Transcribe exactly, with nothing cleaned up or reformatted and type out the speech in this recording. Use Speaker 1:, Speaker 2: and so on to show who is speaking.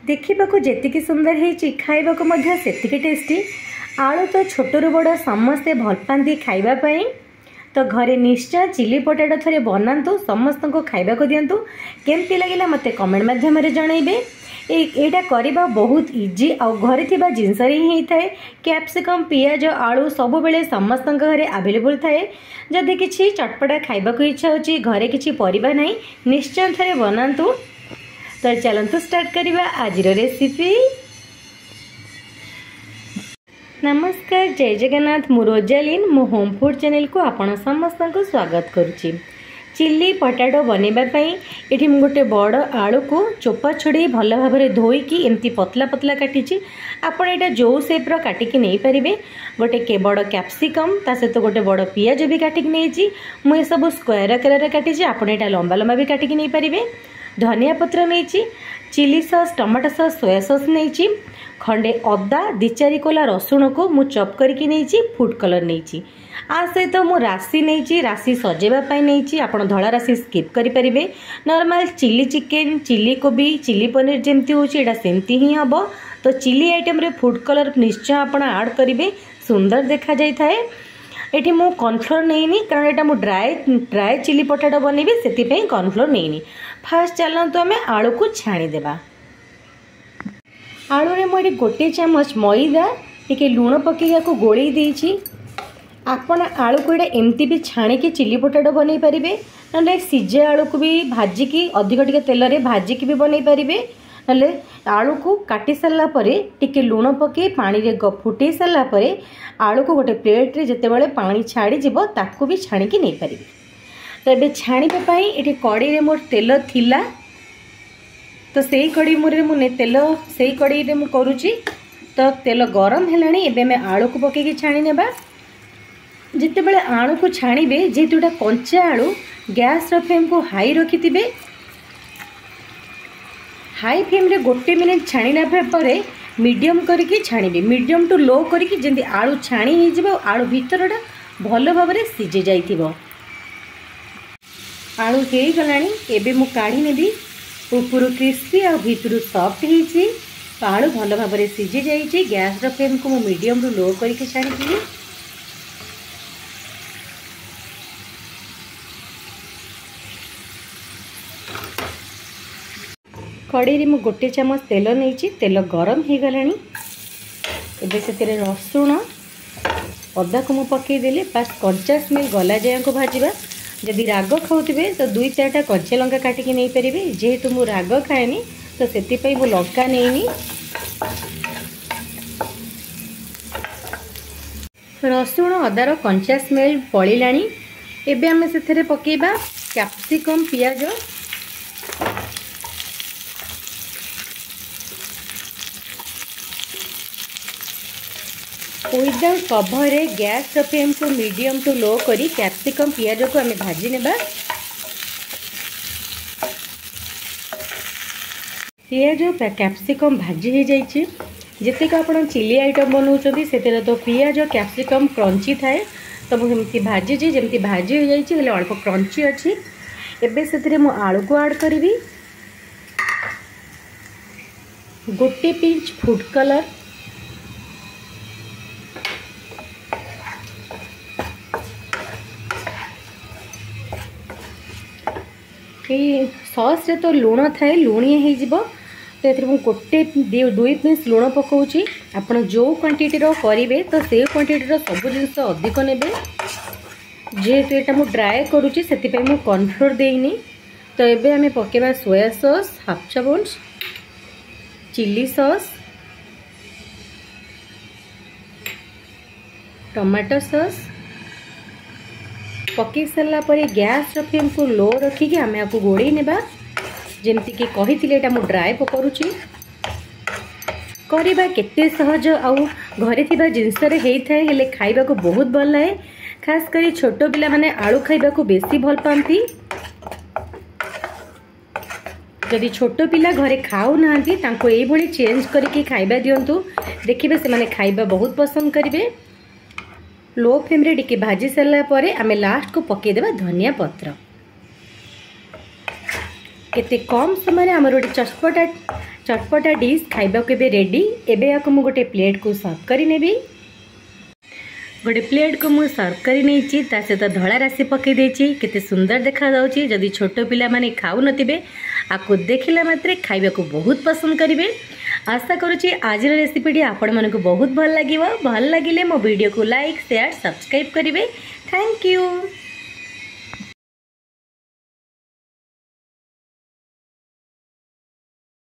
Speaker 1: ଦେଖିବାକୁ ଯେତିକି ସୁନ୍ଦର ହେଇଛି, ଖାଇବାକୁ ମଧ୍ୟ ସେତିକି ଟେଷ୍ଟି। ଆଳୁ ତ ଛୋଟରୁ ବଡ଼ ସମସ୍ତେ ଭଲ ପାଆନ୍ତି ଖାଇବା ପାଇଁ। ତ ଘରେ ନିଶ୍ଚୟ ଚିଲି ପଟାଟୋ ଥରେ ବନାନ୍ତୁ, ସମସ୍ତଙ୍କୁ ଖାଇବାକୁ ଦିଅନ୍ତୁ। କେମିତି ଲାଗିଲା ମୋତେ କମେଣ୍ଟ ମାଧ୍ୟମରେ ଜଣାଇବେ। ଏଇଟା କରିବା ବହୁତ ଇଜି ଆଉ ଘରେ ଥିବା ଜିନିଷରେ ହିଁ ହେଇଥାଏ। କ୍ୟାପ୍ସିକମ୍, ପିଆଜ, ଆଳୁ ସବୁବେଳେ ସମସ୍ତଙ୍କ ଘରେ ଆଭେଲେବୁଲ୍ ଥାଏ। ଯଦି କିଛି ଚଟପଟା ଖାଇବାକୁ ଇଚ୍ଛା ହେଉଛି, ଘରେ କିଛି ପରିବା ନାହିଁ, ନିଶ୍ଚୟ ଥରେ ବନାନ୍ତୁ। ତ ଚାଲନ୍ତୁ ଷ୍ଟାର୍ଟ କରିବା ଆଜିର ରେସିପି। ନମସ୍କାର, ଜୟ ଜଗନ୍ନାଥ। ମୁଁ ରୋଜାଲିନ୍, ମୋ ହୋମ୍ ଫୁଡ଼୍ ଚ୍ୟାନେଲକୁ ଆପଣ ସମସ୍ତଙ୍କୁ ସ୍ୱାଗତ କରୁଛି। ଚିଲି ପଟାଟୋ ବନେଇବା ପାଇଁ ଏଠି ମୁଁ ଗୋଟେ ବଡ଼ ଆଳୁକୁ ଚୋପା ଛଡ଼େଇ ଭଲ ଭାବରେ ଧୋଇକି ଏମିତି ପତଲା ପତଲା କାଟିଛି। ଆପଣ ଏଇଟା ଯେଉଁ ସେପ୍ର କାଟିକି ନେଇପାରିବେ। ଗୋଟେ ବଡ଼ କ୍ୟାପ୍ସିକମ୍, ତା ସହିତ ଗୋଟେ ବଡ଼ ପିଆଜ ବି କାଟିକି ନେଇଛି। ମୁଁ ଏସବୁ ସ୍କୋୟାର ଆକାରରେ କାଟିଛି, ଆପଣ ଏଇଟା ଲମ୍ବା ଲମ୍ବା ବି କାଟିକି ନେଇପାରିବେ। ଧନିଆ ପତ୍ର ନେଇଛି, chilli sauce, tomato sauce, soya sauce ନେଇଛି, ଖଣ୍ଡେ ଅଦା, ଦୁଇ ଚାରି କୋଲା ରସୁଣକୁ ମୁଁ ଚପ୍ କରିକି ନେଇଛି, ଫୁଡ଼୍ କଲର୍ ନେଇଛି। ଆ ସହିତ ମୁଁ ରାଶି ନେଇଛି, ରାଶି ସଜେଇବା ପାଇଁ ନେଇଛି। ଆପଣ ଧଳା ରାଶି ସ୍କିପ୍ କରିପାରିବେ। ନର୍ମାଲ ଚିଲି ଚିକେନ୍, ଚିଲି କୋବି, ଚିଲି ପନିର ଯେମିତି ହେଉଛି, ଏଇଟା ସେମିତି ହିଁ ହେବ। ତ ଚିଲି ଆଇଟମ୍ରେ ଫୁଡ଼୍ କଲର୍ ନିଶ୍ଚୟ ଆପଣ ଆଡ଼୍ କରିବେ, ସୁନ୍ଦର ଦେଖାଯାଇଥାଏ। ଏଠି ମୁଁ କର୍ଣ୍ଣଫ୍ଲୋର୍ ନେଇନି, କାରଣ ଏଇଟା ମୁଁ ଡ୍ରାଏ ଡ୍ରାଏ ଚିଲି ପଟାଟୋ ବନେଇବି, ସେଥିପାଇଁ କର୍ଣ୍ଣଫ୍ଲୋର୍ ନେଇନି। ଫାର୍ଷ୍ଟ ଚାଲନ୍ତୁ ଆମେ ଆଳୁକୁ ଛାଣିଦେବା। ଆଳୁରେ ମୁଁ ଏଠି ଗୋଟିଏ ଚାମଚ ମଇଦା, ଟିକେ ଲୁଣ ପକାଇ ୟାକୁ ଗୋଳେଇ ଦେଇଛି। ଆପଣ ଆଳୁକୁ ଏଇଟା ଏମିତି ବି ଛାଣିକି ଚିଲି ପଟାଟୋ ବନେଇ ପାରିବେ, ନହେଲେ ସିଝା ଆଳୁକୁ ବି ଭାଜିକି, ଅଧିକ ଟିକେ ତେଲରେ ଭାଜିକି ବି ବନେଇ ପାରିବେ। ନହେଲେ ଆଳୁକୁ କାଟି ସାରିଲା ପରେ ଟିକେ ଲୁଣ ପକାଇ ପାଣିରେ ଫୁଟେଇ ସାରିଲା ପରେ ଆଳୁକୁ ଗୋଟେ ପ୍ଲେଟ୍ରେ ଯେତେବେଳେ ପାଣି ଛାଡ଼ିଯିବ, ତାକୁ ବି ଛାଣିକି ନେଇପାରିବେ। ତ ଏବେ ଛାଣିବା ପାଇଁ ଏଠି କଡ଼େଇରେ ମୋର ତେଲ ଥିଲା, ତ ସେଇ କଡ଼େଇ ମୁରରେ ମୁଁ ତେଲ ସେଇ କଡ଼େଇରେ ମୁଁ କରୁଛି। ତ ତେଲ ଗରମ ହେଲାଣି, ଏବେ ଆମେ ଆଳୁକୁ ପକାଇକି ଛାଣି ନେବା। ଯେତେବେଳେ ଆଳୁକୁ ଛାଣିବେ, ଯେହେତୁ ଏଇଟା କଞ୍ଚା ଆଳୁ, ଗ୍ୟାସ୍ର ଫ୍ଲେମ୍କୁ ହାଇ ରଖିଥିବେ। ହାଇ ଫ୍ଲେମ୍ରେ ଗୋଟେ ମିନିଟ୍ ଛାଣିଲା ପରେ ମିଡ଼ିୟମ୍ କରିକି ଛାଣିବେ, ମିଡ଼ିୟମ୍ ଟୁ ଲୋ କରିକି, ଯେମିତି ଆଳୁ ଛାଣି ହେଇଯିବ ଆଉ ଆଳୁ ଭିତରଟା ଭଲ ଭାବରେ ସିଝି ଯାଇଥିବ। ଆଳୁ ହେଇଗଲାଣି, ଏବେ ମୁଁ କାଢ଼ି ନେବି। ଉପରୁ କ୍ରିସ୍ପି ଆଉ ଭିତରୁ ସଫ୍ଟ ହେଇଛି, ତ ଆଳୁ ଭଲ ଭାବରେ ସିଝି ଯାଇଛି। ଗ୍ୟାସ୍ର ଫ୍ଲେମ୍କୁ ମୁଁ ମିଡ଼ିୟମ୍ରୁ ଲୋ କରିକି ଛାଣିଥିଲି। କଡ଼େଇରେ ମୁଁ ଗୋଟେ ଚାମଚ ତେଲ ନେଇଛି। ତେଲ ଗରମ ହେଇଗଲାଣି, ଏବେ ସେଥିରେ ରସୁଣ ଅଦାକୁ ମୁଁ ପକାଇଦେଲି। ବାସ୍, କଞ୍ଚା ସ୍ମେଲ୍ ଗଲା ଯାଏଙ୍କୁ ଭାଜିବା। ଯଦି ରାଗ ଖାଉଥିବେ ତ ଦୁଇ ଚାରିଟା କଞ୍ଚା ଲଙ୍କା କାଟିକି ନେଇପାରିବେ। ଯେହେତୁ ମୁଁ ରାଗ ଖାଏନି, ତ ସେଥିପାଇଁ ମୁଁ ଲଙ୍କା ନେଇନି। ରସୁଣ ଅଦାର କଞ୍ଚା ସ୍ମେଲ୍ ପଳେଇଲାଣି, ଏବେ ଆମେ ସେଥିରେ ପକାଇବା କ୍ୟାପ୍ସିକମ୍, ପିଆଜ। ୱିଦାଉଟ୍ କଭରରେ ଗ୍ୟାସ୍ର ଫ୍ଲେମ୍କୁ ମିଡ଼ିୟମ୍ ଟୁ ଲୋ କରି କ୍ୟାପ୍ସିକମ୍ ପିଆଜକୁ ଆମେ ଭାଜି ନେବା। ପିଆଜ କ୍ୟାପ୍ସିକମ୍ ଭାଜି ହେଇଯାଇଛି। ଯେତିକି ଆପଣ ଚିଲି ଆଇଟମ୍ ବନାଉଛନ୍ତି, ସେଥିରେ ତ ପିଆଜ କ୍ୟାପ୍ସିକମ୍ କ୍ରଞ୍ଚି ଥାଏ, ତ ମୁଁ ସେମିତି ଭାଜିଛି। ଯେମିତି ଭାଜି ହେଇଯାଇଛି, ହେଲେ ଅଳ୍ପ କ୍ରଞ୍ଚି ଅଛି। ଏବେ ସେଥିରେ ମୁଁ ଆଳୁକୁ ଆଡ଼୍ କରିବି, ଗୋଟେ ପିଞ୍ଚ ଫୁଡ଼୍ କଲର୍। ଏଇ ସସ୍ରେ ତ ଲୁଣ ଥାଏ, ଲୁଣିଆ ହେଇଯିବ, ତ ଏଥିରେ ମୁଁ ଗୋଟେ ଦୁଇ ପିସ୍ ଲୁଣ ପକାଉଛି। ଆପଣ ଯେଉଁ କ୍ୱାଣ୍ଟିଟିର କରିବେ, ତ ସେଇ କ୍ୱାଣ୍ଟିଟିର ସବୁ ଜିନିଷ ଅଧିକ ନେବେ। ଯେହେତୁ ଏଇଟା ମୁଁ ଡ୍ରାଏ କରୁଛି, ସେଥିପାଇଁ ମୁଁ କର୍ଣ୍ଣଫ୍ଲୋର୍ ଦେଇନି। ତ ଏବେ ଆମେ ପକାଇବା ସୋୟା ସସ୍ ହାଫ୍ ଚାମଚ, ଚିଲି ସସ୍, ଟମାଟୋ ସସ୍। ପକାଇ ସାରିଲା ପରେ ଗ୍ୟାସ୍ର ଫ୍ଲେମ୍କୁ ଲୋ ରଖିକି ଆମେ ଆକୁ ଗୋଳେଇ ନେବା। ଯେମିତିକି କହିଥିଲି, ଏଇଟା ମୁଁ ଡ୍ରାଏ କରୁଛି। କରିବା କେତେ ସହଜ ଆଉ ଘରେ ଥିବା ଜିନିଷରେ ହେଇଥାଏ, ହେଲେ ଖାଇବାକୁ ବହୁତ ଭଲ ଲାଗେ। ଖାସ କରି ଛୋଟ ପିଲାମାନେ ଆଳୁ ଖାଇବାକୁ ବେଶୀ ଭଲ ପାଆନ୍ତି। ଯଦି ଛୋଟ ପିଲା ଘରେ ଖାଉନାହାନ୍ତି, ତାଙ୍କୁ ଏଇଭଳି ଚେଞ୍ଜ କରିକି ଖାଇବା ଦିଅନ୍ତୁ, ଦେଖିବେ ସେମାନେ ଖାଇବା ବହୁତ ପସନ୍ଦ କରିବେ। ଲୋ ଫ୍ଲେମ୍ରେ ଟିକେ ଭାଜି ସାରିଲା ପରେ ଆମେ ଲାଷ୍ଟକୁ ପକାଇଦେବା ଧନିଆ ପତ୍ର। କେତେ କମ୍ ସମୟରେ ଆମର ଗୋଟେ ଚଟପଟା ଚଟପଟା ଡିଶ୍ ଖାଇବାକୁ ଏବେ ରେଡ଼ି। ଏବେ ଏହାକୁ ମୁଁ ଗୋଟେ ପ୍ଲେଟ୍କୁ ସର୍ଭ କରିନେବି। ଗୋଟେ ପ୍ଲେଟ୍କୁ ମୁଁ ସର୍ଭ କରି ନେଇଛି, ତା ସହିତ ଧଳା ରାଶି ପକାଇ ଦେଇଛି। କେତେ ସୁନ୍ଦର ଦେଖାଯାଉଛି। ଯଦି ଛୋଟ ପିଲାମାନେ ଖାଉନଥିବେ, ଆକୁ ଦେଖିଲା ମାତ୍ରେ ଖାଇବାକୁ ବହୁତ ପସନ୍ଦ କରିବେ। ଆଶା କରୁଛି ଆଜିର ରେସିପିଟି ଆପଣମାନଙ୍କୁ ବହୁତ ଭଲ ଲାଗିବ। ଭଲ ଲାଗିଲେ ମୋ ଭିଡ଼ିଓକୁ ଲାଇକ୍, ସେୟାର, ସବସ୍କ୍ରାଇବ୍ କରିବେ। Thank you.